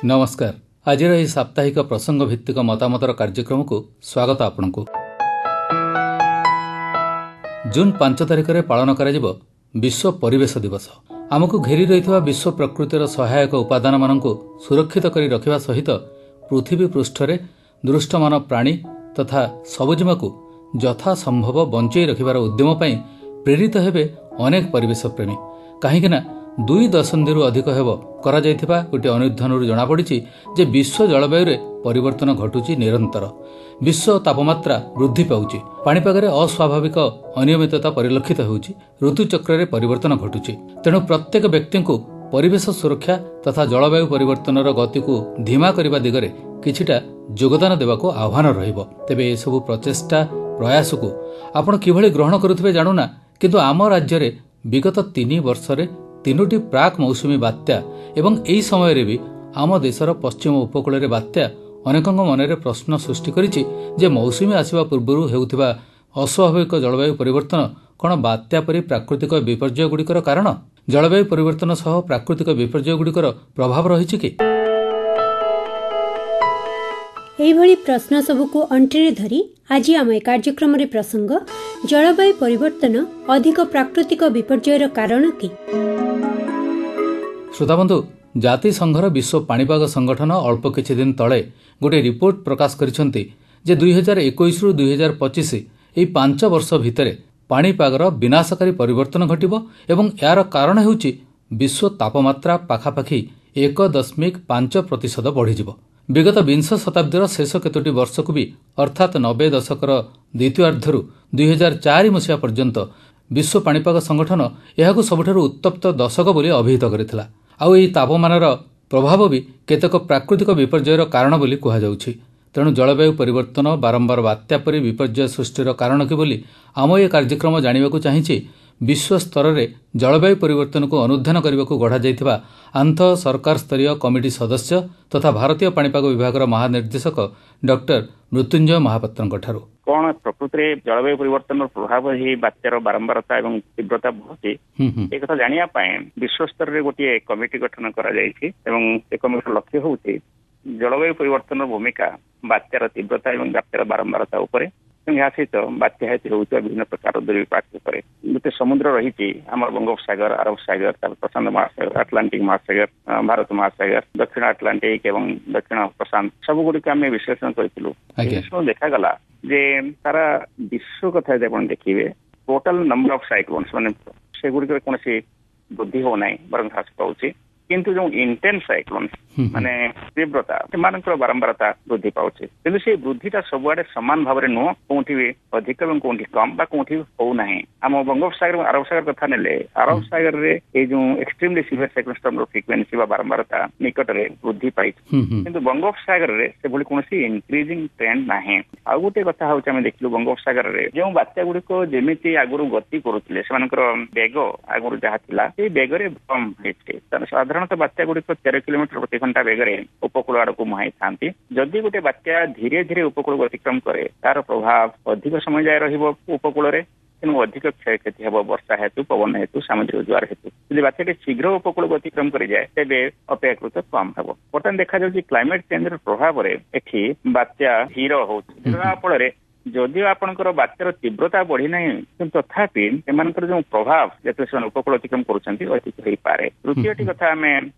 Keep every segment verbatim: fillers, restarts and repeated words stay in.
ନମସ୍କାର। ଆଜିର ଏହି ସାପ୍ତାହିକ ପ୍ରସଙ୍ଗ ଭିତ୍ତିକ ମତାମତର କାର୍ଯ୍ୟକ୍ରମକୁ ସ୍ୱାଗତ ଆପଣଙ୍କୁ। ଜୁନ୍ ପାଞ୍ଚ ତାରିଖରେ ପାଳନ କରାଯିବ ବିଶ୍ୱ ପରିବେଶ ଦିବସ। ଆମକୁ ଘେରି ରହିଥିବା ବିଶ୍ୱ ପ୍ରକୃତିର ସହାୟକ ଉପାଦାନମାନଙ୍କୁ ସୁରକ୍ଷିତ କରି ରଖିବା ସହିତ ପୃଥିବୀ ପୃଷ୍ଠରେ ଦୃଷ୍ଟମାନ ପ୍ରାଣୀ ତଥା ସବୁଜିମାକୁ ଯଥାସମ୍ଭବ ବଞ୍ଚେଇ ରଖିବାର ଉଦ୍ୟମ ପାଇଁ ପ୍ରେରିତ ହେବେ ଅନେକ ପରିବେଶପ୍ରେମୀ। କାହିଁକିନା ଦୁଇ ଦଶନ୍ଧିରୁ ଅଧିକ ହେବ କରାଯାଇଥିବା ଗୋଟିଏ ଅନୁଧ୍ୟାନରୁ ଜଣାପଡ଼ିଛି ଯେ ବିଶ୍ୱ ଜଳବାୟୁରେ ପରିବର୍ତ୍ତନ ଘଟୁଛି ନିରନ୍ତର। ବିଶ୍ୱ ତାପମାତ୍ରା ବୃଦ୍ଧି ପାଉଛି, ପାଣିପାଗରେ ଅସ୍ୱାଭାବିକ ଅନିୟମିତତା ପରିଲକ୍ଷିତ ହେଉଛି, ଋତୁଚକ୍ରରେ ପରିବର୍ତ୍ତନ ଘଟୁଛି। ତେଣୁ ପ୍ରତ୍ୟେକ ବ୍ୟକ୍ତିଙ୍କୁ ପରିବେଶ ସୁରକ୍ଷା ତଥା ଜଳବାୟୁ ପରିବର୍ତ୍ତନର ଗତିକୁ ଧୀମା କରିବା ଦିଗରେ କିଛିଟା ଯୋଗଦାନ ଦେବାକୁ ଆହ୍ୱାନ ରହିବ। ତେବେ ଏସବୁ ପ୍ରଚେଷ୍ଟା ପ୍ରୟାସକୁ ଆପଣ କିଭଳି ଗ୍ରହଣ କରୁଥିବେ ଜାଣୁନା, କିନ୍ତୁ ଆମ ରାଜ୍ୟରେ ବିଗତ ତିନି ବର୍ଷରେ ତିନୋଟି ପ୍ରାକ୍ ମୌସୁମୀ ବାତ୍ୟା ଏବଂ ଏହି ସମୟରେ ବି ଆମ ଦେଶର ପଶ୍ଚିମ ଉପକୂଳରେ ବାତ୍ୟା ଅନେକଙ୍କ ମନରେ ପ୍ରଶ୍ନ ସୃଷ୍ଟି କରିଛି ଯେ ମୌସୁମୀ ଆସିବା ପୂର୍ବରୁ ହେଉଥିବା ଅସ୍ୱାଭାବିକ ଜଳବାୟୁ ପରିବର୍ତ୍ତନ କ'ଣ ବାତ୍ୟା ପରି ପ୍ରାକୃତିକ ବିପର୍ଯ୍ୟୟଗୁଡ଼ିକର କାରଣ? ଜଳବାୟୁ ପରିବର୍ତ୍ତନ ସହ ପ୍ରାକୃତିକ ବିପର୍ଯ୍ୟୟଗୁଡ଼ିକର ପ୍ରଭାବ ରହିଛି କି? ଏହିଭଳି ପ୍ରଶ୍ନ ସବୁକୁ ଅଣ୍ଟିରେ ଧରି ଆଜି ଆମ ଏ କାର୍ଯ୍ୟକ୍ରମରେ ପ୍ରସଙ୍ଗ ଜଳବାୟୁ ପରିବର୍ତ୍ତନ ଅଧିକ ପ୍ରାକୃତିକ ବିପର୍ଯ୍ୟୟର କାରଣ କି? ଶ୍ରୋତାବନ୍ଧୁ, ଜାତିସଂଘର ବିଶ୍ୱ ପାଣିପାଗ ସଂଗଠନ ଅଳ୍ପ କିଛି ଦିନ ତଳେ ଗୋଟିଏ ରିପୋର୍ଟ ପ୍ରକାଶ କରିଛନ୍ତି ଯେ ଦୁଇ ହଜାର ଏକୋଇଶରୁ ଦୁଇ ହଜାର ପଚିଶ ଏହି ପାଞ୍ଚ ବର୍ଷ ଭିତରେ ପାଣିପାଗର ବିନାଶକାରୀ ପରିବର୍ତ୍ତନ ଘଟିବ ଏବଂ ଏହାର କାରଣ ହେଉଛି ବିଶ୍ୱ ତାପମାତ୍ରା ପାଖାପାଖି ଏକ ଦଶମିକ ପାଞ୍ଚ ପ୍ରତିଶତ ବଢ଼ିଯିବ। ବିଗତ ବିଂଶ ଶତାବ୍ଦୀର ଶେଷ କେତୋଟି ବର୍ଷକୁ ବି ଅର୍ଥାତ୍ ନବେ ଦଶକର ଦ୍ୱିତୀୟାର୍ଦ୍ଧରୁ ଦୁଇ ହଜାର ଚାରି ମସିହା ପର୍ଯ୍ୟନ୍ତ ବିଶ୍ୱ ପାଣିପାଗ ସଂଗଠନ ଏହାକୁ ସବୁଠାରୁ ଉତ୍ତପ୍ତ ଦଶକ ବୋଲି ଅଭିହିତ କରିଥିଲା। ଆଉ ଏହି ତାପମାନର ପ୍ରଭାବ ବି କେତେକ ପ୍ରାକୃତିକ ବିପର୍ଯ୍ୟୟର କାରଣ ବୋଲି କୁହାଯାଉଛି। ତେଣୁ ଜଳବାୟୁ ପରିବର୍ତ୍ତନ ବାରମ୍ବାର ବାତ୍ୟା ପରି ବିପର୍ଯ୍ୟୟ ସୃଷ୍ଟିର କାରଣ କି ବୋଲି ଆମ ଏ କାର୍ଯ୍ୟକ୍ରମ ଜାଣିବାକୁ ଚାହିଁଛି ବିଶ୍ୱ ସ୍ତରରେ ଜଳବାୟୁ ପରିବର୍ତ୍ତନକୁ ଅନୁଧ୍ୟାନ କରିବାକୁ ଗଢ଼ାଯାଇଥିବା ଆନ୍ତଃ ସରକାର ସ୍ତରୀୟ କମିଟି ସଦସ୍ୟ ତଥା ଭାରତୀୟ ପାଣିପାଗ ବିଭାଗର ମହାନିର୍ଦ୍ଦେଶକ ଡକ୍ଟର ମୃତ୍ୟୁଞ୍ଜୟ ମହାପାତ୍ରଙ୍କଠାରୁ। କଣ ପ୍ରକୃତିରେ ଜଳବାୟୁ ପରିବର୍ତ୍ତନର ପ୍ରଭାବ ଏହି ବାତ୍ୟାର ବାରମ୍ବାରତା ଏବଂ ତୀବ୍ରତା ବଢୁଛି, ଏ କଥା ଜାଣିବା ପାଇଁ ବିଶ୍ୱ ସ୍ତରରେ ଗୋଟିଏ କମିଟି ଗଠନ କରାଯାଇଛି ଏବଂ ସେ କମିଟିର ଲକ୍ଷ୍ୟ ହେଉଛି ଜଳବାୟୁ ପରିବର୍ତ୍ତନର ଭୂମିକା ବାତ୍ୟାର ତୀବ୍ରତା ଏବଂ ବାତ୍ୟାର ବାରମ୍ବାରତା ଉପରେ ଏବଂ ଏହା ସହିତ ବାତ୍ୟା ହେତୁ ହେଉଥିବା ବିଭିନ୍ନ ପ୍ରକାର ଦୁର୍ବିପାକ ଉପରେ। ଗୋଟେ ସମୁଦ୍ର ରହିଛି ଆମର ବଙ୍ଗୋପସାଗର, ଆରବ ସାଗର, ତାପରେ ପ୍ରଶାନ୍ତ ମହାସାଗର, ଆଟଲାଣ୍ଟିକ ମହାସାଗର, ଭାରତ ମହାସାଗର, ଦକ୍ଷିଣ ଆଟଲାଣ୍ଟିକ ଏବଂ ଦକ୍ଷିଣ ପ୍ରଶାନ୍ତ, ସବୁଗୁଡ଼ିକ ଆମେ ବିଶ୍ଳେଷଣ କରିଥିଲୁ। ଦେଖାଗଲା ଯେ ସାରା ବିଶ୍ୱ କଥା ଯଦି ଆପଣ ଦେଖିବେ, ଟୋଟାଲ ନମ୍ବର ଅଫ ସାଇକ୍ଲୋନ୍ସ ମାନେ ସେଗୁଡ଼ିକରେ କୌଣସି ବୃଦ୍ଧି ହଉନାହିଁ ବରଂ ହ୍ରାସ ପାଉଛି, କିନ୍ତୁ ଯୋଉ ଇଣ୍ଟେନ୍ସ ସାଇକ୍ଲୋନ୍ସ ମାନେ ତୀବ୍ରତା ସେମାନଙ୍କର ବାରମ୍ବାରତା ବୃଦ୍ଧି ପାଉଛି। କିନ୍ତୁ ସେଇ ବୃଦ୍ଧିଟା ସବୁଆଡେ ସମାନ ଭାବରେ ନୁହଁ, କୋଉଠି ବି ଅଧିକ ଏବଂ କୋଉଠି କମ ବା କୋଉଠି ହଉନାହିଁ। ଆମ ବଙ୍ଗୋପସାଗର ଏବଂ ଆରବ ସାଗର କଥା ନେଲେ, ଆରବ ସାଗରରେ ଏଇ ଯୋଉ ଏକ୍ସଟ୍ରିମଲି ସିଭିୟର ସାଇକ୍ଲୋନ ଷ୍ଟର୍ମର ଫ୍ରିକ୍ୱେନ୍ସି ବା ବାରମ୍ବାରତା ନିକଟରେ ବୃଦ୍ଧି ପାଇଛି, କିନ୍ତୁ ବଙ୍ଗୋପସାଗରରେ ସେଭଳି କୌଣସି ଇନକ୍ରିଜିଂ ଟ୍ରେଣ୍ଡ ନାହିଁ। ଆଉ ଗୋଟେ କଥା ହଉଛି ଆମେ ଦେଖିଲୁ ବଙ୍ଗୋପସାଗରରେ ଯେଉଁ ବାତ୍ୟା ଗୁଡିକ ଯେମିତି ଆଗରୁ ଗତି କରୁଥିଲେ, ସେମାନଙ୍କର ବେଗ ଆଗରୁ ଯାହା ଥିଲା ସେଇ ବେଗରେ କମ ହେଇଛି। ସାଧାରଣତଃ ବାତ୍ୟା ଗୁଡିକ ତେର କିଲୋମିଟର ପ୍ରତି ଘଣ୍ଟା ବେଗରେ ଉପକୂଳ ଆଡକୁ ମୁହାଁଇଥାନ୍ତି। ଯଦି ଗୋଟେ ବାତ୍ୟା ଧୀରେ ଧୀରେ ଉପକୂଳକୁ ଅତିକ୍ରମ କରେ, ତାର ପ୍ରଭାବ ଅଧିକ ସମୟ ଯାଏ ରହିବ ଉପକୂଳରେ, ତେଣୁ ଅଧିକ କ୍ଷୟକ୍ଷତି ହେବ ବର୍ଷା ହେତୁ, ପବନ ହେତୁ, ସାମୁଦ୍ରିକ ଜୁଆର ହେତୁ। ଯଦି ବାତ୍ୟାଟି ଶୀଘ୍ର ଉପକୂଳକୁ ଅତିକ୍ରମ କରିଯାଏ ତେବେ ଅପେକ୍ଷାକୃତ କମ ହେବ। ବର୍ତ୍ତମାନ ଦେଖାଯାଉଛି କ୍ଲାଇମେଟ ଚେଞ୍ଜର ପ୍ରଭାବରେ ଏଠି ବାତ୍ୟା ଧୀର ହଉଛି, ଧୀର ହେବା ଫଳରେ ଯଦିଓ ଆପଣଙ୍କର ବାତ୍ୟାର ତୀବ୍ରତା ବଢିନାହିଁ, କିନ୍ତୁ ତଥାପି ସେମାନଙ୍କର ଯୋଉ ପ୍ରଭାବ ଯେତେବେଳେ ସେମାନେ ଉପକୂଳ ଅତିକ୍ରମ କରୁଛନ୍ତି ଅଧିକ ହେଇପାରେ। ତୃତୀୟଟି କଥା ଆମେ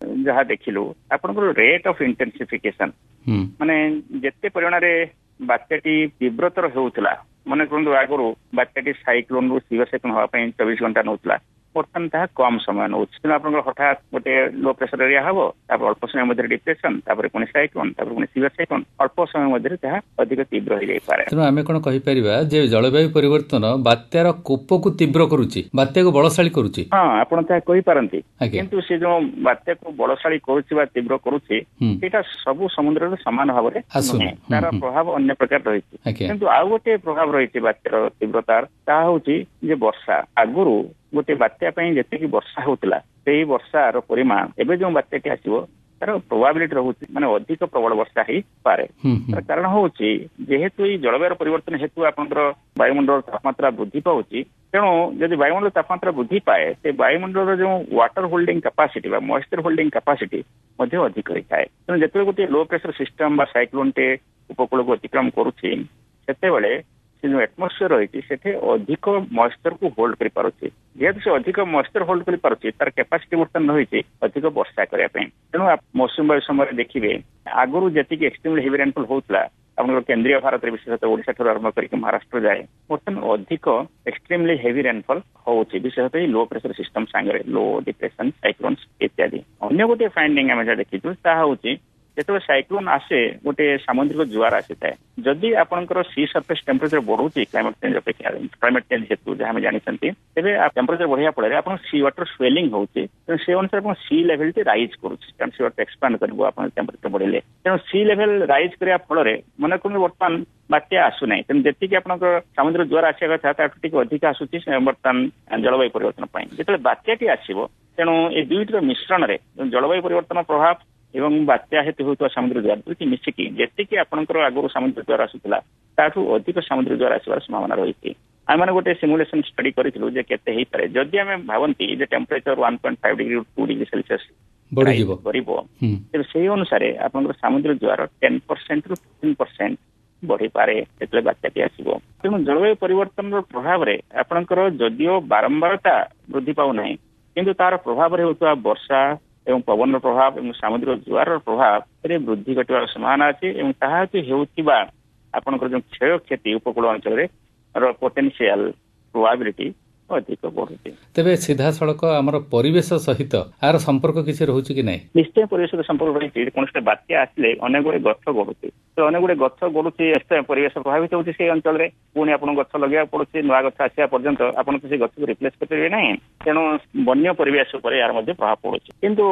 ଯାହା ଦେଖିଲୁ, ଆପଣଙ୍କର ରେଟ୍ ଅଫ ଇଣ୍ଟେନ୍ସିଫିକେସନ ମାନେ ଯେତେ ପରିମାଣରେ ବାତ୍ୟାଟି ତୀବ୍ରତର ହେଉଥିଲା, ମନେ କରନ୍ତୁ ଆଗରୁ ବାତ୍ୟାଟି ସାଇକ୍ଲୋନରୁ ସିଭିୟର ସାଇକ୍ଲୋନ ହେବା ପାଇଁ ଚବିଶ ଘଣ୍ଟା ନେଉଥିଲା, ବର୍ତ୍ତମାନ ତାହା କମ ସମୟ ନେଉଛି। ତେଣୁ ଆପଣଙ୍କର ହଠାତ୍ ଗୋଟେ ଲୋ ପ୍ରେସର ଏରିଆ ହବ, ତାପରେ ଅଳ୍ପ ସମୟ ମଧ୍ୟରେ ଡିପ୍ରେସନ, ତାପରେ ପୁଣି ସାଇକ୍ଲୋନ, ତାପରେ ପୁଣି ସିଭିୟର ସାଇକ୍ଲୋନ, ଅଳ୍ପ ସମୟ ମଧ୍ୟରେ ତାହା ଅଧିକ ତୀବ୍ର ହେଇଯାଇପାରେ। ତେଣୁ ଆମେ କଣ କହିପାରିବା ଯେ ଜଳବାୟୁ ପରିବର୍ତ୍ତନ ବାତ୍ୟାର କୋପକୁ ତୀବ୍ର କରୁଛି, ବାତ୍ୟାକୁ ବଳଶାଳୀ କରୁଛି? ହଁ, ଆପଣ ତାହା କହିପାରନ୍ତି, କିନ୍ତୁ ସେ ଯୋଉ ବାତ୍ୟାକୁ ବଳଶାଳୀ କରୁଛି ବା ତୀବ୍ର କରୁଛି ସେଇଟା ସବୁ ସମୁଦ୍ରରେ ସମାନ ଭାବରେ ନୁହେଁ, ତାର ପ୍ରଭାବ ଅନ୍ୟ ପ୍ରକାର ରହିଛି। କିନ୍ତୁ ଆଉ ଗୋଟିଏ ପ୍ରଭାବ ରହିଛି ବାତ୍ୟାର ତୀବ୍ରତାର, ତାହା ହଉଛି ଯେ ବର୍ଷା। ଆଗରୁ ଗୋଟେ ବାତ୍ୟା ପାଇଁ ଯେତିକି ବର୍ଷା ହଉଥିଲା ସେଇ ବର୍ଷାର ପରିମାଣ ଏବେ ଯୋଉ ବାତ୍ୟାଟି ଆସିବ ତାର ପ୍ରୋବାବିଲିଟି ରହୁଛି, ମାନେ ଅଧିକ ପ୍ରବଳ ବର୍ଷା ହେଇପାରେ। ତାର କାରଣ ହଉଛି ଯେହେତୁ ଏଇ ଜଳବାୟୁର ପରିବର୍ତ୍ତନ ହେତୁ ଆପଣଙ୍କର ବାୟୁମଣ୍ଡଳ ତାପମାତ୍ରା ବୃଦ୍ଧି ପାଉଛି। ତେଣୁ ଯଦି ବାୟୁମଣ୍ଡଳ ତାପମାତ୍ରା ବୃଦ୍ଧି ପାଏ, ସେ ବାୟୁମଣ୍ଡଳର ଯେଉଁ ୱାଟର ହୋଲ୍ଡିଂ କାପାସିଟି ବା ମଏଶ୍ଚର ହୋଲ୍ଡିଂ କାପାସିଟି ମଧ୍ୟ ଅଧିକ ହେଇଥାଏ। ତେଣୁ ଯେତେବେଳେ ଗୋଟିଏ ଲୋ ପ୍ରେସର ସିଷ୍ଟମ ବା ସାଇକ୍ଲୋନଟେ ଉପକୂଳକୁ ଅତିକ୍ରମ କରୁଛି, ସେତେବେଳେ ସେ ଯୋଉ ଆଟମୋସ୍ଫିୟର ରହିଛି ସେଠି ଅଧିକ ମଏଶ୍ଚରକୁ ହୋଲ୍ଡ କରିପାରୁଛି। ଯେହେତୁ ସେ ଅଧିକ ମଏଶ୍ଚର ହୋଲ୍ଡ କରିପାରୁଛି, ତାର କାପାସିଟି ବର୍ତ୍ତମାନ ରହିଛି ଅଧିକ ବର୍ଷା କରିବା ପାଇଁ। ତେଣୁ ମୌସୁମୀ ବାୟୁ ସମୟରେ ଦେଖିବେ, ଆଗରୁ ଯେତିକି ଏକ୍ସଟ୍ରିମଲି ହେଭି ରେନଫଲ ହଉଥିଲା ଆପଣଙ୍କର କେନ୍ଦ୍ରୀୟ ଭାରତରେ, ବିଶେଷତଃ ଓଡିଶା ଠାରୁ ଆରମ୍ଭ କରିକି ମହାରାଷ୍ଟ୍ର ଯାଏ, ବର୍ତ୍ତମାନ ଅଧିକ ଏକ୍ସଟ୍ରିମଲି ହେଭି ରେନଫଲ ହଉଛି, ବିଶେଷତଃ ଏଇ ଲୋ ପ୍ରେସର ସିଷ୍ଟମ ସାଙ୍ଗରେ, ଲୋ ଡିପ୍ରେସନ, ସାଇକ୍ଲୋନ୍ସ ଇତ୍ୟାଦି। ଅନ୍ୟ ଗୋଟିଏ ଫାଇଣ୍ଡିଙ୍ଗ ଆମେ ଯାହା ଦେଖିଛୁ ତାହା ହଉଛି, ଯେତେବେଳେ ସାଇକ୍ଲୋନ ଆସେ ଗୋଟେ ସାମୁଦ୍ରିକ ଜୁଆର ଆସିଥାଏ। ଯଦି ଆପଣଙ୍କର ସି ସର୍ଫେସ ଟେମ୍ପରେଚର ବଢୁଛି କ୍ଲାଇମେଟ ଚେଞ୍ଜ ଅପେକ୍ଷା, କ୍ଲାଇମେଟ ଚେଞ୍ଜ ହେତୁ ଯାହା ଆମେ ଜାଣିଛନ୍ତି, ତେବେ ଟେମ୍ପରେଚର ବଢିବା ଫଳରେ ଆପଣ ସି ୱାଟର ସ୍ୱେଲିଂ ହଉଛି। ତେଣୁ ସେ ଅନୁସାରେ ଆପଣ ସି ଲେଭେଲଟି ରାଇଜ କରୁଛି, କାରଣ ସି ୱାଟର ଏକ୍ସପାଣ୍ଡ କରିବ ଆପଣ ଟେମ୍ପରେଚର ବଢିଲେ। ତେଣୁ ସି ଲେଭେଲ ରାଇଜ କରିବା ଫଳରେ ମନେ କରନ୍ତୁ ବର୍ତ୍ତମାନ ବାତ୍ୟା ଆସୁନାହିଁ, ତେଣୁ ଯେତିକି ଆପଣଙ୍କ ସମୁଦ୍ର ଜୁଆର ଆସିବା କଥା ତାଠୁ ଟିକେ ଅଧିକ ଆସୁଛି ବର୍ତ୍ତମାନ ଜଳବାୟୁ ପରିବର୍ତ୍ତନ ପାଇଁ ଯେତେବେଳେ ବାତ୍ୟାଟି ଆସିବ। ତେଣୁ ଏ ଦୁଇଟିର ମିଶ୍ରଣରେ ଜଳବାୟୁ ପରିବର୍ତ୍ତନ ପ୍ରଭାବ ଏବଂ ବାତ୍ୟା ହେତୁ ହେଉଥିବା ସମୁଦ୍ର ଜୁଆର ଦୁଇଟି ମିଶିକି ଯେତିକି ଆପଣଙ୍କର ଆଗରୁ ସମୁଦ୍ର ଜୁଆର ଆସୁଥିଲା ତାଠୁ ଅଧିକ ସମୁଦ୍ର ଜୁଆର ଆସିବାର ସମ୍ଭାବନା ରହିଛି। ଆମେ ଗୋଟେ ସିମୁଲେସନ ଷ୍ଟଡି କରିଥିଲୁ ଯେ କେତେ ହେଇପାରେ ଯଦି ଆମେ ଭାବନ୍ତି ଯେ temperature one point five degree two degree Celsius ବଢିଯିବ କରିବ, ତେବେ ସେଇ ଅନୁସାରେ ଆପଣଙ୍କର ସମୁଦ୍ର ଜୁଆର ଟେନ୍ ପରସେଣ୍ଟ ରୁ ଫିଫ୍ଟିନ୍ ପରସେଣ୍ଟ ବଢିପାରେ ଯେତେବେଳେ ବାତ୍ୟାଟି ଆସିବ। ତେଣୁ ଜଳବାୟୁ ପରିବର୍ତ୍ତନର ପ୍ରଭାବରେ ଆପଣଙ୍କର ଯଦିଓ ବାରମ୍ବାରତା ବୃଦ୍ଧି ପାଉନାହିଁ, କିନ୍ତୁ ତାର ପ୍ରଭାବରେ ହେଉଥିବା ବର୍ଷା ଏବଂ ପବନର ପ୍ରଭାବ ଏବଂ ସାମୁଦ୍ରିକ ଜୁଆରର ପ୍ରଭାବରେ ବୃଦ୍ଧି ଘଟିବାର ସମ୍ଭାବନା ଅଛି ଏବଂ ତାହା ହେତୁ ହେଉଥିବା ଆପଣଙ୍କର ଯୋଉ କ୍ଷୟକ୍ଷତି ଉପକୂଳ ଅଞ୍ଚଳରେ ପୋଟେନ୍ସିଆଲ ପ୍ରୋବାବିଲିଟି ଅଧିକ ବଢୁଛି। ତେବେ ସିଧାସଳଖ ଆମର ପରିବେଶ ସହିତ ଆର ସମ୍ପର୍କ କିଛି ରହୁଛି କି ନାହିଁ? ନିଶ୍ଚୟ ପରିବେଶ ସହିତ ସମ୍ପର୍କ ରହିଛି। କୌଣସି ବାତ୍ୟା ଆସିଲେ ଅନେକ ଗୁଡେ ଗଛ ଗଡୁଛି, ତ ଅନେକ ଗୁଡେ ଗଛ ଗଡୁଛି, ପରିବେଶ ପ୍ରଭାବିତ ହଉଛି ସେଇ ଅଞ୍ଚଳରେ। ପୁଣି ଆପଣଙ୍କୁ ଗଛ ଲଗେଇବାକୁ ପଡୁଛି, ନୂଆ ଗଛ ଆସିବା ପର୍ଯ୍ୟନ୍ତ ଆପଣ ତ ସେଇ ଗଛକୁ ରିପ୍ଲେସ କରିପାରିବେ ନାହିଁ। ତେଣୁ ବନ୍ୟ ପରିବେଶ ଉପରେ ଏହାର ମଧ୍ୟ ପ୍ରଭାବ ପଡୁଛି। କିନ୍ତୁ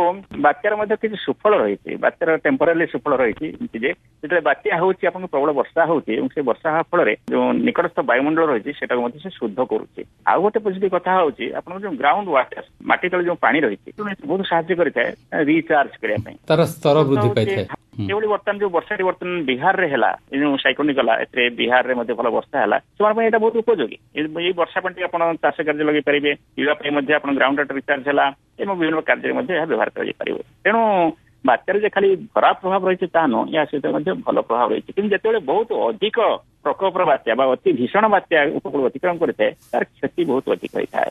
ବାତ୍ୟାର ମଧ୍ୟ କିଛି ସୁଫଳ ରହିଛି, ବାତ୍ୟାର ଟେମ୍ପୋରାରୀ ସୁଫଳ ରହିଛି ଯେ ଯେତେବେଳେ ବାତ୍ୟା ହଉଛି ଆପଣଙ୍କୁ ପ୍ରବଳ ବର୍ଷା ହଉଛି ଏବଂ ସେ ବର୍ଷା ହେବା ଫଳରେ ଯୋଉ ନିକଟସ୍ଥ ବାୟୁମଣ୍ଡଳ ରହିଛି ସେଟାକୁ ମଧ୍ୟ ସେ ଶୁଦ୍ଧ କରୁଛି। ଆଉ ଗୋଟେ ପଜିଟିଭ କଥା ହଉଛି ଆପଣଙ୍କ ଯୋଉ ଗ୍ରାଉଣ୍ଡ ୱାଟର, ମାଟି ତଳେ ଯୋଉ ପାଣି ରହିଛି, ବହୁତ ସାହାଯ୍ୟ କରିଥାଏ ରିଚାର୍ଜ କରିବା ପାଇଁ, ତାର ସ୍ତର ବୃଦ୍ଧି ପାଇଥାଏ। ସେଭଳି ବର୍ତ୍ତମାନ ଯୋଉ ବର୍ଷାଟି ବର୍ତ୍ତମାନ ବିହାରରେ ହେଲା, ଏ ଯୋଉ ସାଇକ୍ଲୋନିକ ଗଲା, ଏଥିରେ ବିହାରରେ ମଧ୍ୟ ଭଲ ବର୍ଷା ହେଲା, ସେମାନଙ୍କ ପାଇଁ ଏଇଟା ବହୁତ ଉପଯୋଗୀ। ଏଇ ବର୍ଷା ପାଣି ଆପଣ ଚାଷ କାର୍ଯ୍ୟ ଲଗେଇ ପାରିବେ, ପିଇବା ପାଇଁ ମଧ୍ୟ ଆପଣ ଗ୍ରାଉଣ୍ଡ ୱାଟର ରିଚାର୍ଜ ହେଲା ଏବଂ ବିଭିନ୍ନ କାର୍ଯ୍ୟରେ ମଧ୍ୟ ଏହା ବ୍ୟବହାର କରାଯାଇ ପାରିବ। ତେଣୁ ବାତ୍ୟାର ଯେ ଖାଲି ଖରାପ ପ୍ରଭାବ ରହିଛି ତାହା ନୁହଁ, ଏହା ସହିତ ମଧ୍ୟ ଭଲ ପ୍ରଭାବ ରହିଛି। କିନ୍ତୁ ଯେତେବେଳେ ବହୁତ ଅଧିକ ପ୍ରକୋପର ବାତ୍ୟା ବା ଅତି ଭୀଷଣ ବାତ୍ୟା ଉପକୂଳ ଅତିକ୍ରମ କରିଥାଏ, ତାର କ୍ଷତି ବହୁତ ଅଧିକ ହୋଇଥାଏ।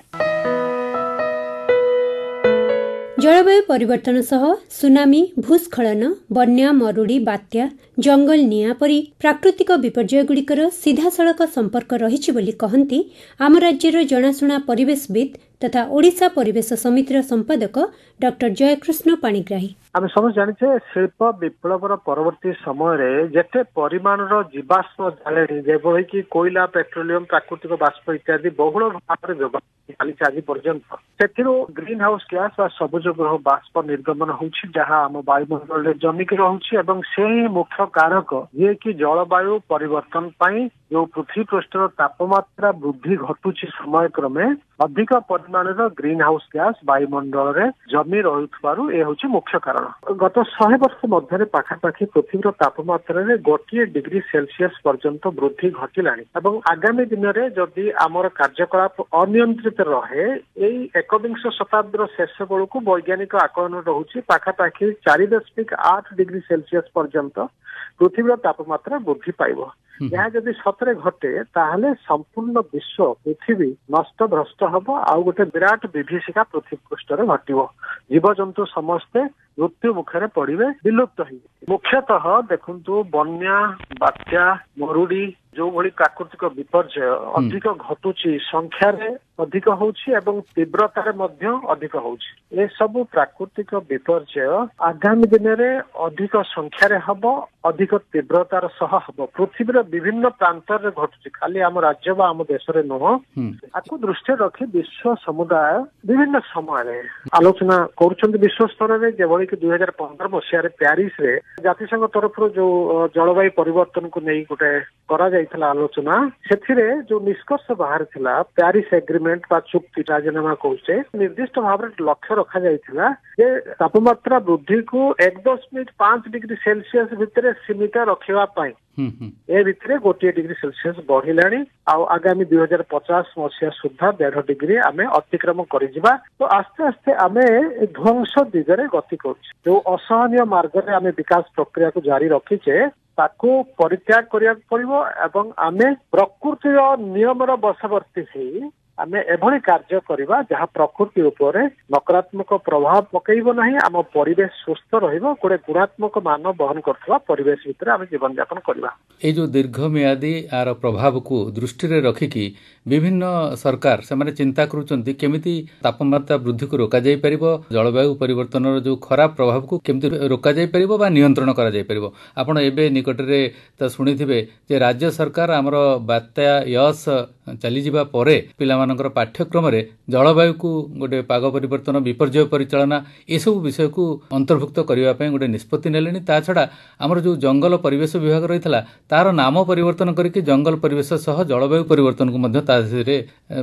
ଜଳବାୟୁ ପରିବର୍ତ୍ତନ ସହ ସୁନାମି, ଭୂସ୍ଖଳନ, ବନ୍ୟା, ମରୁଡ଼ି, ବାତ୍ୟା, ଜଙ୍ଗଲ ନିଆଁ ପରି ପ୍ରାକୃତିକ ବିପର୍ଯ୍ୟୟଗୁଡ଼ିକର ସିଧାସଳଖ ସମ୍ପର୍କ ରହିଛି ବୋଲି କହନ୍ତି ଆମ ରାଜ୍ୟର ଜଣାଶୁଣା ପରିବେଶବିତ୍ ତଥା ଓଡ଼ିଶା ପରିବେଶ ସମିତିର ସମ୍ପାଦକ ଡକ୍ଟର ଜୟକୃଷ୍ଣ ପାଣିଗ୍ରାହୀ। ଆମେ ସମସ୍ତେ ଜାଣିଛେ ଶିଳ୍ପ ବିପ୍ଳବର ପରବର୍ତ୍ତୀ ସମୟରେ ଯେତେ ପରିମାଣର ଜୀବାଶ୍ମ ଜାଳେଣୀ ଯେଭଳି କି କୋଇଲା, ପେଟ୍ରୋଲିୟମ, ପ୍ରାକୃତିକ ବାଷ୍ପ ଇତ୍ୟାଦି ବହୁଳ ଭାବରେ ବ୍ୟବହାର ଚାଲିଛି ଆଜି ପର୍ଯ୍ୟନ୍ତ, ସେଥିରୁ ଗ୍ରୀନ ହାଉସ ଗ୍ୟାସ ବା ସବୁଜ ଗୃହ ବାଷ୍ପ ନିର୍ଗମନ ହଉଛି, ଯାହା ଆମ ବାୟୁମଣ୍ଡଳରେ ଜମିକି ରହୁଛି ଏବଂ ସେ ହିଁ ମୁଖ୍ୟ କାରକ ଯିଏକି ଜଳବାୟୁ ପରିବର୍ତ୍ତନ ପାଇଁ ଯୋଉ ପୃଥିବୀ ପୃଷ୍ଠର ତାପମାତ୍ରା ବୃଦ୍ଧି ଘଟୁଛି ସମୟକ୍ରମେ ଅଧିକ ପରିମାଣର ଗ୍ରୀନ ହାଉସ ଗ୍ୟାସ ବାୟୁମଣ୍ଡଳରେ ଜମି ରହୁଥିବାରୁ ଏ ହଉଛି ମୁଖ୍ୟ କାରଣ। ଗତ ଶହେ ବର୍ଷ ମଧ୍ୟରେ ପାଖାପାଖି ପୃଥିବୀର ତାପମାତ୍ରାରେ ଗୋଟିଏ ଡିଗ୍ରୀ ସେଲସିୟସ ପର୍ଯ୍ୟନ୍ତ ବୃଦ୍ଧି ଘଟିଲାଣି ଏବଂ ଆଗାମୀ ଦିନରେ ଯଦି ଆମର କାର୍ଯ୍ୟକଳାପ ଅନିୟନ୍ତ୍ରିତ ରହେ, ଏଇ ଏକବିଂଶ ଶତାବ୍ଦୀର ଶେଷ ବେଳକୁ ବୈଜ୍ଞାନିକ ଆକଳନ ରହୁଛି ପାଖାପାଖି ଚାରି ଦଶମିକ ଆଠ ଡିଗ୍ରୀ ସେଲସିୟସ ପର୍ଯ୍ୟନ୍ତ ପୃଥିବୀର ତାପମାତ୍ରା ବୃଦ୍ଧି ପାଇବ। ଏହା ଯଦି ସତରେ ଘଟେ ତାହେଲେ ସମ୍ପୂର୍ଣ୍ଣ ବିଶ୍ୱ ପୃଥିବୀ ନଷ୍ଟ ଭ୍ରଷ୍ଟ ହବ, ଆଉ ଗୋଟେ ବିରାଟ ବିଭୀଷିକା ପୃଥିବୀ ପୃଷ୍ଠରେ ଘଟିବ, ଜୀବଜନ୍ତୁ ସମସ୍ତେ ମୃତ୍ୟୁ ମୁଖରେ ପଡିବେ, ବିଲୁପ୍ତ ହେଇଯିବେ। ମୁଖ୍ୟତଃ ଦେଖନ୍ତୁ ବନ୍ୟା, ବାତ୍ୟା, ମରୁଡି ଯୋଉଭଳି ପ୍ରାକୃତିକ ବିପର୍ଯ୍ୟୟ ଅଧିକ ଘଟୁଛି, ସଂଖ୍ୟାରେ ଅଧିକ ହଉଛି ଏବଂ ତୀବ୍ରତାରେ ମଧ୍ୟ ଅଧିକ ହଉଛି। ଏସବୁ ପ୍ରାକୃତିକ ବିପର୍ଯ୍ୟୟ ଆଗାମୀ ଦିନରେ ଅଧିକ ସଂଖ୍ୟାରେ ହବ, ଅଧିକ ତୀବ୍ରତାର ସହ ହବ, ପୃଥିବୀର ବିଭିନ୍ନ ପ୍ରାନ୍ତରେ ଘଟୁଛି, ଖାଲି ଆମ ରାଜ୍ୟ ବା ଆମ ଦେଶରେ ନୁହଁ। ଆକୁ ଦୃଷ୍ଟିରେ ରଖି ବିଶ୍ୱ ସମୁଦାୟ ବିଭିନ୍ନ ସମୟରେ ଆଲୋଚନା କରୁଛନ୍ତି ବିଶ୍ୱ ସ୍ତରରେ। ଯେଭଳି କି ଦୁଇ ହଜାର ପନ୍ଦର ମସିହାରେ ପ୍ୟାରିସରେ ଜାତିସଂଘ ତରଫରୁ ଯୋଉ ଜଳବାୟୁ ପରିବର୍ତ୍ତନକୁ ନେଇ ଗୋଟେ ଗୋଟେ କରାଯାଇଥିଲା ଆଲୋଚନା, ସେଥିରେ ଯୋଉ ନିଷ୍କର୍ଷ ବାହାରିଥିଲା ପ୍ୟାରିସ ଏଗ୍ରିମେଣ୍ଟ ବା ଚୁକ୍ତି ରାଜିନାମା କହୁଛେ, ନିର୍ଦ୍ଦିଷ୍ଟ ଭାବରେ ଲକ୍ଷ୍ୟ ରଖାଯାଇଥିଲା ଯେ ତାପମାତ୍ରା ବୃଦ୍ଧିକୁ ଏକ ଦଶମିକ ପାଞ୍ଚ ଡିଗ୍ରୀ ସେଲସିୟସ ଭିତରେ ସୀମିତ ରଖିବା ପାଇଁ। ଏ ଭିତରେ ଗୋଟିଏ ଡିଗ୍ରୀ ସେଲସିୟସ ବଢିଲାଣି, ଆଉ ଆଗାମୀ ଦୁଇ ହଜାର ପଚାଶ ମସିହା ସୁଦ୍ଧା ଦେଢ ଡିଗ୍ରୀ ଆମେ ଅତିକ୍ରମ କରିଯିବା। ତ ଆସ୍ତେ ଆସ୍ତେ ଆମେ ଧ୍ୱଂସ ଦିଗରେ ଗତି କରୁଛେ। ଯୋଉ ଅସହନୀୟ ମାର୍ଗରେ ଆମେ ବିକାଶ ପ୍ରକ୍ରିୟାକୁ ଜାରି ରଖିଛେ ତାକୁ ପରିତ୍ୟାଗ କରିବାକୁ ପଡିବ ଏବଂ ଆମେ ପ୍ରକୃତିର ନିୟମର ବଶବର୍ତ୍ତୀ ହେଇ ଆମେ ଏଭଳି କାର୍ଯ୍ୟ କରିବା ଯାହା ପ୍ରକୃତି ଉପରେ ନକାରାତ୍ମକ ପ୍ରଭାବ ପକେଇବ ନାହିଁ, ଆମ ପରିବେଶ ସୁସ୍ଥ ରହିବ, ଗୋଟେ ଗୁଣାତ୍ମକ ମାନ ବହନ କରୁଥିବା ପରିବେଶ ଭିତରେ ଆମେ ଜୀବନଯାପନ କରିବା। ଏଇ ଯୋଉ ଦୀର୍ଘମିଆଦୀ ଆର ପ୍ରଭାବକୁ ଦୃଷ୍ଟିରେ ରଖିକି ବିଭିନ୍ନ ସରକାର ସେମାନେ ଚିନ୍ତା କରୁଛନ୍ତି କେମିତି ତାପମାତ୍ରା ବୃଦ୍ଧିକୁ ରୋକାଯାଇ ପାରିବ, ଜଳବାୟୁ ପରିବର୍ତ୍ତନର ଯୋଉ ଖରାପ ପ୍ରଭାବକୁ କେମିତି ରୋକାଯାଇ ପାରିବ ବା ନିୟନ୍ତ୍ରଣ କରାଯାଇ ପାରିବ। ଆପଣ ଏବେ ନିକଟରେ ତ ଶୁଣିଥିବେ ଯେ ରାଜ୍ୟ ସରକାର ଆମର ବାତ୍ୟା ୟସ୍ ଚାଲିଯିବା ପରେ ପିଲାମାନଙ୍କର ପାଠ୍ୟକ୍ରମରେ ଜଳବାୟୁକୁ ଗୋଟେ ପାଗ ପରିବର୍ତ୍ତନ, ବିପର୍ଯ୍ୟୟ ପରିଚାଳନା ଏସବୁ ବିଷୟକୁ ଅନ୍ତର୍ଭୁକ୍ତ କରିବା ପାଇଁ ଗୋଟେ ନିଷ୍ପତ୍ତି ନେଲେଣି। ତା ଛଡ଼ା ଆମର ଯୋଉ ଜଙ୍ଗଲ ପରିବେଶ ବିଭାଗ ରହିଥିଲା ତାର ନାମ ପରିବର୍ତ୍ତନ କରିକି ଜଙ୍ଗଲ ପରିବେଶ ସହ ଜଳବାୟୁ ପରିବର୍ତ୍ତନକୁ ମଧ୍ୟ ତା ଦେହରେ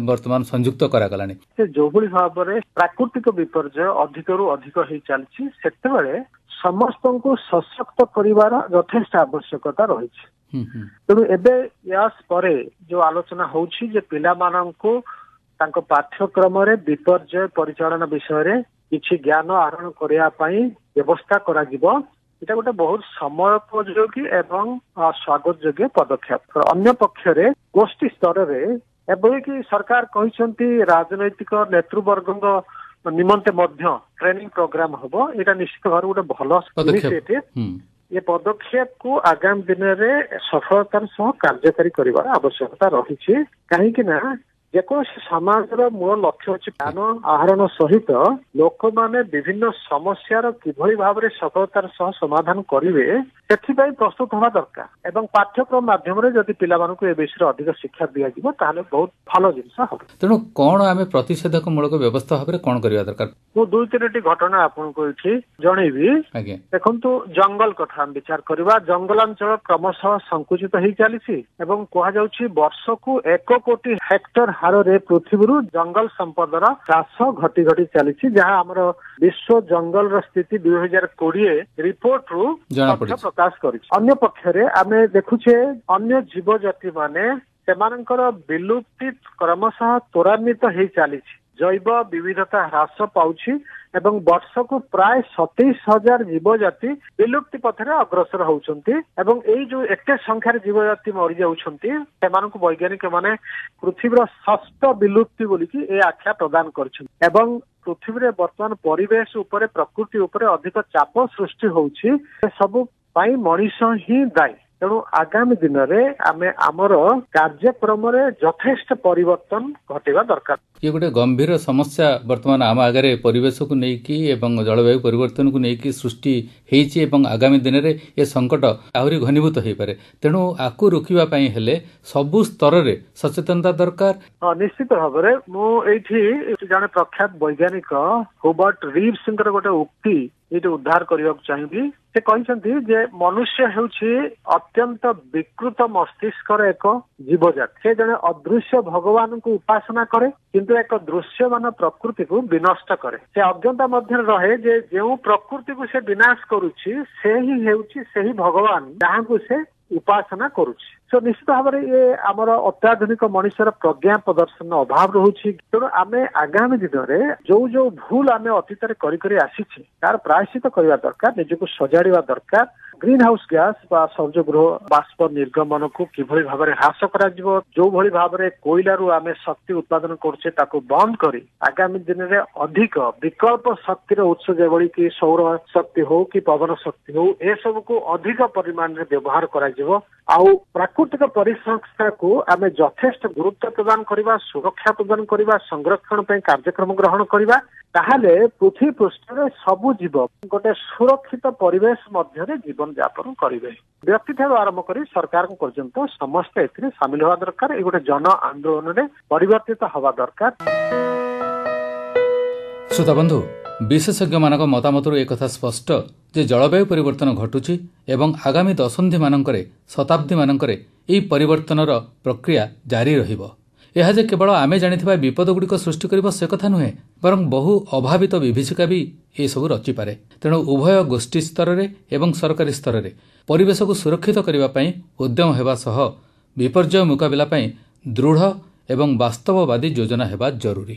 ବର୍ତ୍ତମାନ ସଂଯୁକ୍ତ କରାଗଲାଣି। ସେ ଯୋଉଭଳି ଭାବରେ ପ୍ରାକୃତିକ ବିପର୍ଯ୍ୟୟ ଅଧିକରୁ ଅଧିକ ହେଇ ଚାଲିଛି, ସେତେବେଳେ ସମସ୍ତଙ୍କୁ ସଶକ୍ତ କରିବାର ଯଥେଷ୍ଟ ଆବଶ୍ୟକତା ରହିଛି। ତେଣୁ ଏବେ ୟାସ୍ ପରେ ଯୋଉ ଆଲୋଚନା ହଉଛି ଯେ ପିଲାମାନଙ୍କୁ ତାଙ୍କ ପାଠ୍ୟକ୍ରମରେ ବିପର୍ଯ୍ୟୟ ପରିଚାଳନା ବିଷୟରେ କିଛି ଜ୍ଞାନ ଆହରଣ କରିବା ପାଇଁ ବ୍ୟବସ୍ଥା କରାଯିବ, ଏଇଟା ଗୋଟେ ବହୁତ ସମୟୋପଯୋଗୀ ଏବଂ ସ୍ୱାଗତ ଯୋଗ୍ୟ ପଦକ୍ଷେପ। ଅନ୍ୟ ପକ୍ଷରେ ଗୋଷ୍ଠୀ ସ୍ତରରେ ଏଭଳିକି ସରକାର କହିଛନ୍ତି ରାଜନୈତିକ ନେତୃବର୍ଗଙ୍କ ନିମନ୍ତେ ମଧ୍ୟ ଟ୍ରେନିଂ ପ୍ରୋଗ୍ରାମ ହବ, ଏଇଟା ନିଶ୍ଚିତ ଭାବରେ ଗୋଟେ ଭଲ ଇନିସିଏଟିଭ। ଏ ପଦକ୍ଷେପକୁ ଆଗାମୀ ଦିନରେ ସଫଳତାର ସହ କାର୍ଯ୍ୟକାରୀ କରିବାର ଆବଶ୍ୟକତା ରହିଛି। କାହିଁକି ନା ଯେକୌଣସି ସମାଜର ମୂଳ ଲକ୍ଷ୍ୟ ଅଛି ଜ୍ଞାନ ଆହରଣ ସହିତ ଲୋକମାନେ ବିଭିନ୍ନ ସମସ୍ୟାର କିଭଳି ଭାବରେ ସଫଳତାର ସହ ସମାଧାନ କରିବେ ସେଥିପାଇଁ ପ୍ରସ୍ତୁତ ହେବା ଦରକାର, ଏବଂ ପାଠ୍ୟକ୍ରମ ମାଧ୍ୟମରେ ଯଦି ପିଲାମାନଙ୍କୁ ଏ ବିଷୟରେ ଅଧିକ ଶିକ୍ଷା ଦିଆଯିବ ତାହେଲେ ବହୁତ ଭଲ ଜିନିଷ ହବ। ତେଣୁ କଣ ଆମେ ପ୍ରତିଷେଧକମୂଳକ ବ୍ୟବସ୍ଥା ଭାବରେ କଣ କରିବା ଦରକାର? ମୁଁ ଦୁଇ ତିନୋଟି ଘଟଣା ଆପଣଙ୍କୁ ଏଠି ଜଣେଇବି। ଦେଖନ୍ତୁ, ଜଙ୍ଗଲ କଥା ଆମେ ବିଚାର କରିବା। ଜଙ୍ଗଲାଞ୍ଚଳ କ୍ରମଶଃ ସଂକୁଚିତ ହେଇ ଚାଲିଛି ଏବଂ କୁହାଯାଉଛି ବର୍ଷକୁ ଏକ କୋଟି ହେକ୍ଟର ହାରରେ ପୃଥିବୀରୁ ଜଙ୍ଗଲ ସମ୍ପଦର ହ୍ରାସ ଘଟି ଘଟି ଚାଲିଛି, ଯାହା ଆମର ବିଶ୍ୱ ଜଙ୍ଗଲର ସ୍ଥିତି ଦୁଇ ହଜାର କୋଡିଏ ରିପୋର୍ଟରୁ ତଥ୍ୟ ପ୍ରକାଶ କରିଛି। ଅନ୍ୟ ପକ୍ଷରେ ଆମେ ଦେଖୁଛେ ଅନ୍ୟ ଜୀବଜାତି ମାନେ ସେମାନଙ୍କର ବିଲୁପ୍ତି କ୍ରମଶଃ ତ୍ୱରାନ୍ୱିତ ହେଇ ଚାଲିଛି, ଜୈବ ବିବିଧତା ହ୍ରାସ ପାଉଛି ଏବଂ ବର୍ଷକୁ ପ୍ରାୟ ସତେଇଶ ହଜାର ଜୀବଜାତି ବିଲୁପ୍ତି ପଥରେ ଅଗ୍ରସର ହଉଛନ୍ତି। ଏବଂ ଏଇ ଯୋଉ ଏତେ ସଂଖ୍ୟାରେ ଜୀବଜାତି ମରିଯାଉଛନ୍ତି ସେମାନଙ୍କୁ ବୈଜ୍ଞାନିକ ମାନେ ପୃଥିବୀର ଷଷ୍ଠ ବିଲୁପ୍ତି ବୋଲିକି ଏ ଆଖ୍ୟା ପ୍ରଦାନ କରିଛନ୍ତି। ଏବଂ ପୃଥିବୀରେ ବର୍ତ୍ତମାନ ପରିବେଶ ଉପରେ, ପ୍ରକୃତି ଉପରେ ଅଧିକ ଚାପ ସୃଷ୍ଟି ହଉଛି, ସବୁ ପାଇଁ ମଣିଷ ହିଁ ଦାୟୀ। ତେଣୁ ଆଗାମୀ ଦିନରେ ଆମେ ଆମର କାର୍ଯ୍ୟକ୍ରମରେ ଯଥେଷ୍ଟ ପରିବର୍ତ୍ତନ ଘଟିବା ଦରକାର। ଇଏ ଗୋଟେ ଗମ୍ଭୀର ସମସ୍ୟା ବର୍ତ୍ତମାନ ଆମ ଆଗରେ ପରିବେଶକୁ ନେଇକି ଏବଂ ଜଳବାୟୁ ପରିବର୍ତ୍ତନକୁ ନେଇକି ସୃଷ୍ଟି ହେଇଛି ଏବଂ ଆଗାମୀ ଦିନରେ ଏ ସଙ୍କଟ ଆହୁରି ଘନୀଭୂତ ହେଇପାରେ। ତେଣୁ ଆକୁ ରୋକିବା ପାଇଁ ହେଲେ ସବୁ ସ୍ତରରେ ସଚେତନତା ଦରକାର। ହଁ, ନିଶ୍ଚିତ ଭାବରେ। ମୁଁ ଏଇଠି ଜଣେ ପ୍ରଖ୍ୟାତ ବୈଜ୍ଞାନିକ ହୁବର୍ଟ ରିଭ୍ସଙ୍କର ଗୋଟେ ଉକ୍ତି ଏଇଠି ଉଦ୍ଧାର କରିବାକୁ ଚାହିଁବି। ସେ କହିଛନ୍ତି ଯେ ମନୁଷ୍ୟ ହେଉଛି ଅତ୍ୟନ୍ତ ବିକୃତ ମସ୍ତିଷ୍କର ଏକ ଜୀବଜାତି। ସେ ଜଣେ ଅଦୃଶ୍ୟ ଭଗବାନଙ୍କୁ ଉପାସନା କରେ, କିନ୍ତୁ ଏକ ଦୃଶ୍ୟମାନ ପ୍ରକୃତିକୁ ବିନଷ୍ଟ କରେ। ସେ ଅଜ୍ଞତା ମଧ୍ୟରେ ରହେ ଯେ ଯେଉଁ ପ୍ରକୃତିକୁ ସେ ବିନାଶ କରୁଛି ସେ ହିଁ ହେଉଛି ସେହି ଭଗବାନ ଯାହାଙ୍କୁ ସେ ଉପାସନା କରୁଛି। ତ ନିଶ୍ଚିତ ଭାବରେ ଇଏ ଆମର ଅତ୍ୟାଧୁନିକ ମଣିଷର ପ୍ରଜ୍ଞା ପ୍ରଦର୍ଶନ ଅଭାବ ରହୁଛି। ତେଣୁ ଆମେ ଆଗାମୀ ଦିନରେ ଯୋଉ ଯୋଉ ଭୁଲ ଆମେ ଅତୀତରେ କରି କରି ଆସିଛେ ତାର ପ୍ରାୟଶ୍ଚିତ କରିବା ଦରକାର, ନିଜକୁ ସଜାଡ଼ିବା ଦରକାର। ଗ୍ରୀନ ହାଉସ ଗ୍ୟାସ ବା ସବୁଜ ଗୃହ ବାଷ୍ପ ନିର୍ଗମନକୁ କିଭଳି ଭାବରେ ହ୍ରାସ କରାଯିବ, ଯୋଉଭଳି ଭାବରେ କୋଇଲାରୁ ଆମେ ଶକ୍ତି ଉତ୍ପାଦନ କରୁଛେ ତାକୁ ବନ୍ଦ କରି ଆଗାମୀ ଦିନରେ ଅଧିକ ବିକଳ୍ପ ଶକ୍ତିର ଉତ୍ସ ଯେଭଳି କି ସୌର ଶକ୍ତି ହଉ କି ପବନ ଶକ୍ତି ହଉ, ଏସବୁକୁ ଅଧିକ ପରିମାଣରେ ବ୍ୟବହାର କରାଯିବ। ଆଉ ପ୍ରାକୃତିକ ପରିସଂସ୍ଥାକୁ ଆମେ ଯଥେଷ୍ଟ ଗୁରୁତ୍ୱ ପ୍ରଦାନ କରିବା, ସୁରକ୍ଷା ପ୍ରଦାନ କରିବା, ସଂରକ୍ଷଣ ପାଇଁ କାର୍ଯ୍ୟକ୍ରମ ଗ୍ରହଣ କରିବା, ତାହେଲେ ପୃଥିବୀ ପୃଷ୍ଠରେ ସବୁ ଜୀବ ଗୋଟେ ସୁରକ୍ଷିତ ପରିବେଶ ମଧ୍ୟରେ ଜୀବନ ଯାପନ କରିବେ। ବ୍ୟକ୍ତିଠାରୁ ଆରମ୍ଭ କରି ସରକାରଙ୍କ ପର୍ଯ୍ୟନ୍ତ ସମସ୍ତେ ଏଥିରେ ସାମିଲ ହେବା ଦରକାର। ଏଇ ଗୋଟେ ଜନ ଆନ୍ଦୋଳନରେ ପରିବର୍ତ୍ତିତ ହେବା ଦରକାର। ଶ୍ରୋତା ବନ୍ଧୁ, ବିଶେଷଜ୍ଞମାନଙ୍କ ମତାମତରୁ ଏକଥା ସ୍ପଷ୍ଟ ଯେ ଜଳବାୟୁ ପରିବର୍ତ୍ତନ ଘଟୁଛି ଏବଂ ଆଗାମୀ ଦଶନ୍ଧିମାନଙ୍କରେ, ଶତାବ୍ଦୀମାନଙ୍କରେ ଏହି ପରିବର୍ତ୍ତନର ପ୍ରକ୍ରିୟା ଜାରି ରହିବ। ଏହା ଯେ କେବଳ ଆମେ ଜାଣିଥିବା ବିପଦଗୁଡ଼ିକ ସୃଷ୍ଟି କରିବ ସେ କଥା ନୁହେଁ, ବରଂ ବହୁ ଅଭାବିତ ବିଭୀଷିକା ବି ଏସବୁ ରଚିପାରେ। ତେଣୁ ଉଭୟ ଗୋଷ୍ଠୀ ସ୍ତରରେ ଏବଂ ସରକାରୀ ସ୍ତରରେ ପରିବେଶକୁ ସୁରକ୍ଷିତ କରିବା ପାଇଁ ଉଦ୍ୟମ ହେବା ସହ ବିପର୍ଯ୍ୟୟ ମୁକାବିଲା ପାଇଁ ଦୃଢ଼ ଏବଂ ବାସ୍ତବବାଦୀ ଯୋଜନା ହେବା ଜରୁରୀ।